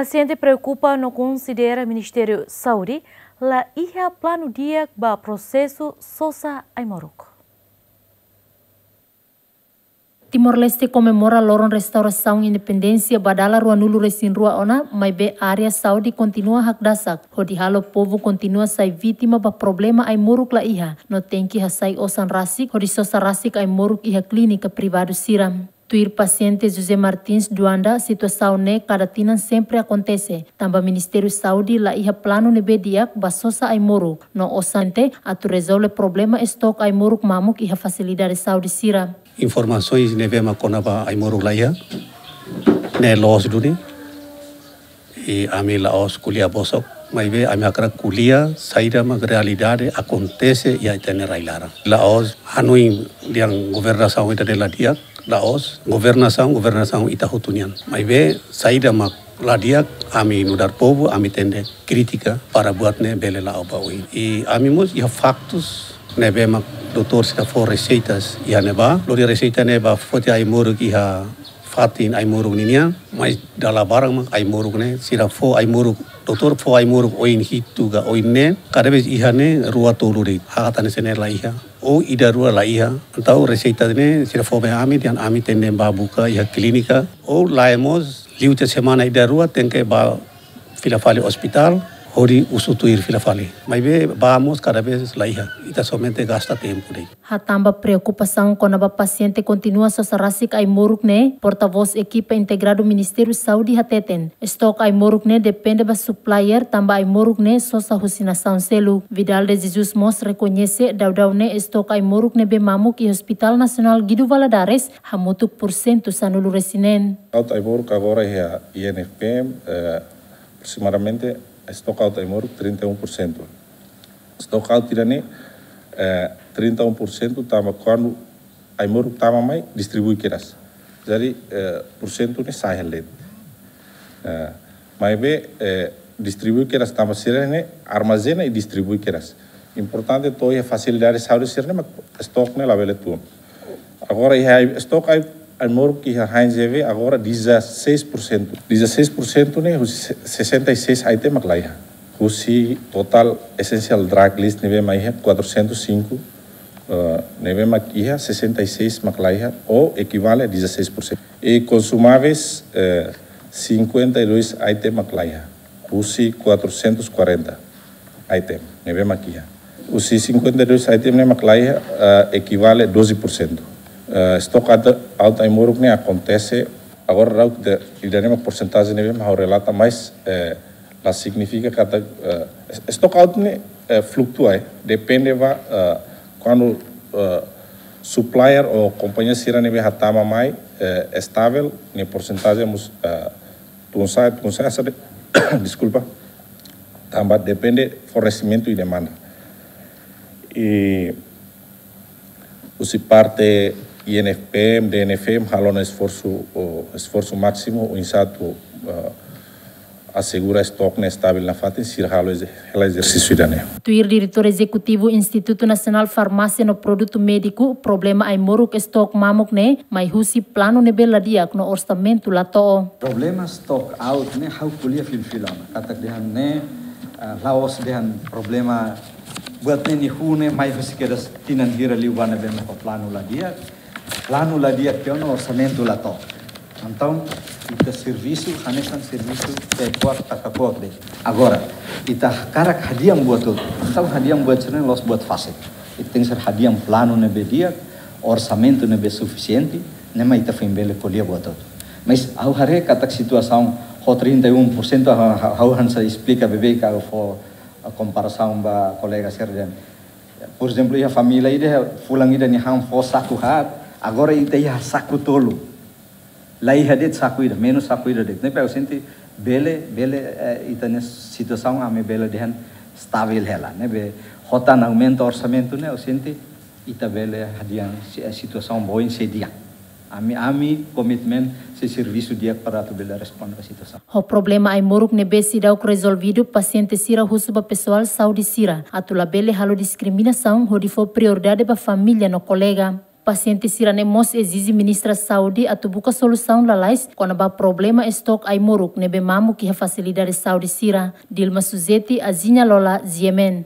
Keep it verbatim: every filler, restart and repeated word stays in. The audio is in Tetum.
Pasiente preokupa no konsidera Ministériu Saúde la iha planu di'ak ba prosesu sosa ai-moruk. Timor-Leste komemora loron restaurasaun independénsia ba dala ruanulu-resin-rua ona, maibé área saúde kontinua hakdasak, hodi halo povu kontinua sai vítima ba problema ai-moruk la iha, no tenke hasai osan rasik hodi sosa rasik ai-moruk iha klínika privadu sira. Tuir pasiente José Martins Duanda, situasaun ne'e kada tinan sempre akontese, tanba Ministériu Saúde la iha planu ne'ebé di'ak ba sosa ai-moruk, no osan ne'e atu rezolve problema estok ai-moruk mamuk iha fasilidade saúde sira. Informasaun ne'ebé mak kona-ba ai-moruk la iha, ne'e loos duni. I ami la'ós ko'alia bosok, maibé ami hakarak ko'alia saida mak realidade akontese iha ita-nia rai-laran. La'ós hanoin dehan governasaun ita-nia la di'ak, la'ós, governasaun, governasaun ita hotu nian. Maibé saida mak la di'ak, ami nu'udar povu, ami tenke kritika para buat ne'e bele la'o ba oin. I ami mós iha faktus ne'ebé mak doutór sira fó reseitas iha ne'ebá, lori reseita ne'e ba foti ai-moruk iha fatin ai-moruk ninian, mais dala barak mak ai-moruk ne'e, sira fó ai-moruk, doutór fó ai-moruk oin hitu ka oin neen, kada vez iha ne'e rua tolu de'it, ha'u hatene se ne'e la iha. Ou ida rua la iha, entaun reseita ne'e sira fó ba ami, dehan ami tenke bá buka iha klínika, ou lae mós, liu tiha semana ida rua tenke bá fila fali ospitál, hodi husu tuir fila fali. Maibé bá mós kada vez la iha, ita somente gasta tempu de'it. Hatán ba preokupasaun kona-ba pasiente kontinua sosa rasik ai-moruk ne'e, portavós ekipa integradu Ministériu Saúde hateten, estok ai-moruk ne'e depende ba supplier, tanba ai-moruk ne'e sosa husi nasaun seluk. Vidal de Jesus mós rekoñese daudaun ne'e estok ai-moruk ne'ebé mamuk iha Hospital Nasionál Guido Valadares hamutuk pursentu sanulu-resin-neen. Estok ai-moruk agora iha I N F P M, eh, aproximadamente estok ai-moruk trinta e um por cento. Estok ai-moruk ida-ne'e, eh, trinta e um por cento tanba kuandu ai-moruk tama mai, distribui kedas. Jadi, eh, pursentu ne'e sai hela de'it. Eh, maibé, eh, distribui kedas tanba sira-ne'e armazena i distribui kedas. Importante to'o iha fasilidade saúde sira-ne'e mak estok ne'e labele tun. Agora iha estok ai, ai-moruk iha Heinz G V agora dezasseis por cento. Dezasseis por cento ne'e husi se-, sessenta e seis item mak la iha. Husi total essential drug list ne'ebé mak iha quatrocentos e cinco, eh, ne'ebé mak iha sessenta e seis mak la iha, ou ekivale a dezasseis por cento. I konsumáveis, eh, cinquenta e dois item mak la iha, husi quatrocentos e quarenta item ne'ebé mak iha. Husi cinquenta e dois item ne'e mak la iha, eh, ekivale doze por cento. Eh, estok ai-, ai-moruk ne'e akontese, agora daudaun ida-ne'e mak porsentajen ne'ebé mak ha'u relata, mais, eh, la signifika katak, eh, es-, estok ai-moruk ne'e, eh, fluktua, eh, depende ba, eh, kuandu, eh, supplier ou kompañia sira ne'ebé hatama mai, eh, estavel, nia porsentajen mós, eh, tun sa'e, tun sa'e, sabe? Deskulpa. Tanba depende fornesimentu i demanda. I husi parte I N F P M, D N F M, halo ona esforsu, o, esforsu másimu, oinsá atu, eh, asegura estok ne'e estavel nafatin, sira halo eze-, hela ezersísiu ida-ne'e. Tuir Diretór Ezekutivu Institutu Nasionál Farmásia no Produtu Médiku, problema ai-moruk estok mamuk ne'e mai husi planu ne'ebé la di'ak no orsamentu la to'o. Problema stock out ne'e ha'u ko'alia fila-fila ona. Katak dehan ne'e, ah, la'ós dehan problema buat ne'e nia hun ne'e mai husi kedas tinan hira liubá ne'ebé mak planu la di'ak. Planu la di'ak tiha ona, orsamentu la to'o. Entaun, ita servisu, hanesan servisu, tekuak, taka kuak de'it. Agora, ita hakarak hadi'a buat hotu. Entaun, hadi'a buat sira-ne'e la'ós buat fasil. Ita tenke ser hadi'a planu ne'ebé di'ak, orsamentu ne'ebé sufisiente, ne'e mak ita foin bele ko'alia buat hotu. Mas, ha'u haree katak situasaun ho trinta e um por cento, ha'u, ha'u, ha'u hanesan esplika beibeik, ha'u fó, a, komparasaun ba kolega sira dehan. Por ezemplu, iha família ida, fulan ida nia han fó saku haat, agora ita iha saku tolu. La iha de'it saku ida, menus saku ida de'it. Ne'ebé ha'u sente bele, bele, eh, ita-nia situasaun ami bele dehan estavel hela. Ne'ebé ho tan aumenta orsamentu ne'e, ha'u sente ita bele hadi'a si-, eh, situasaun ba oin sei di'ak. Ami, ami komitmen sei servisu di'ak para atu bele responde ba situasaun. Ho problema ai-moruk ne'ebé seidauk rezolvidu, pasiente sira husu ba pesoál saúde sira atu labele halo diskriminasaun hodi fó prioridade ba família no kolega. Pasiente sira ne'e mós ezije Ministra Saúde atu buka solusaun lalais kona-ba problema estok ai-moruk ne'ebé mamuk iha fasilidade saúde sira. Dilma Suzeti, Aziña Lola, G M N.